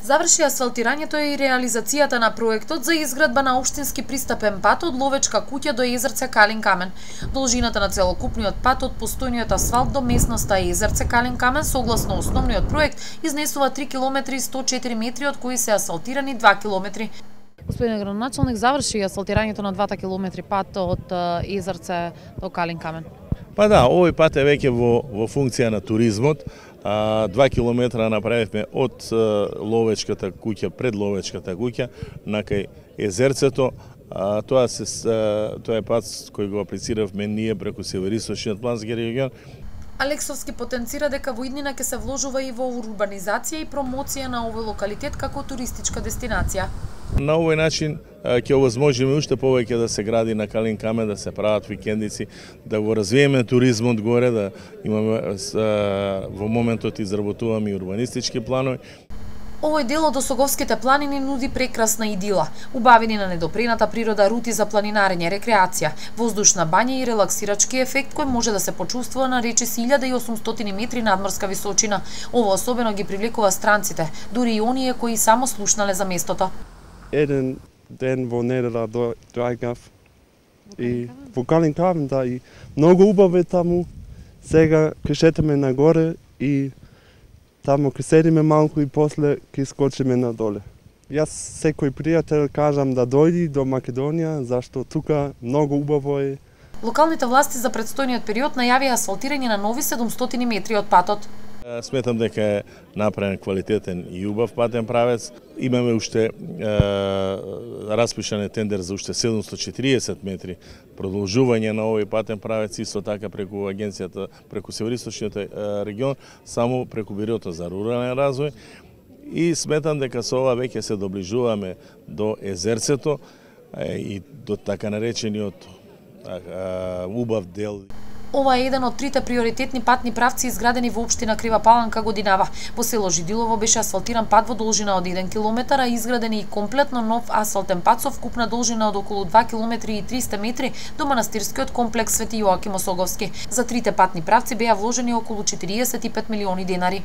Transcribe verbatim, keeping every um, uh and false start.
Заврши асфалтирањето и реализацијата на проектот за изградба на општински пристапен пат од Ловечка куќа до езерце Калин камен. Должината на целокупниот пат од постојниот асфалт до местноста езерце Калин камен согласно основниот проект изнесува три километри и сто и четири метри, од кои се асфалтирани два километри. Господин градоначалник, заврши асфалтирањето на двата километри пат од езерце до Калин камен. Па да, овој пат е веќе во, во функција на туризмот. А, два километра направивме од Ловечката куќа, пред Ловечката куќа, накај езерцето. А, тоа, се, тоа е пат кој го аплициравме ние преку Североисточниот плански регион. Алексовски потенцира дека во иднина ќе се вложува и во урбанизација и промоција на овој локалитет како туристичка дестинација. На овој начин ќе овозможиме уште повеќе да се гради на Калин камен, да се прават викендици, да го развиеме туризмот горе, да имаме во моментот изработуваме и урбанистички планови. Овој дел од Осоговските планини нуди прекрасна идила, убавени на недопрената природа, рути за планинарење, рекреација, воздушна бања и релаксирачки ефект кој може да се почувствува на речиси илјада и осумстотини метри надморска височина. Ова особено ги привлекува странците, дури и оние кои само слушнале за местото. Еден ден во недела доаѓав и во Калин камен, да, и многу убаво е таму. Сега ќе шетаме нагоре и таму ќе седиме малку и после ќе скочиме надоле. Јас секој пријател кажам да дојди до Македонија, зашто тука многу убаво е. Локалните власти за предстојниот период најавија асфалтирање на нови седумстотини метри од патот. Сметам дека е направен квалитетен и убав патен правец. Имаме уште е, распишан е тендер за уште седумстотини и четириесет метри продолжување на овој патен правец, исто така преку агенцијата, преку Североисточниот регион, само преку Бирото за рурален развој. И сметам дека со ова веќе се доближуваме до езерцето и до така наречениот убав дел. Ова е еден од трите приоритетни патни правци изградени во општина Крива Паланка годинава. Во село Жидилово беше асфалтиран пат во должина од еден километар, а изграден и комплетно нов асфалтен пат со вкупна должина од околу два километри и триста метри до манастирскиот комплекс Свети Јоаким Осоговски. За трите патни правци беа вложени околу четириесет и пет милиони денари.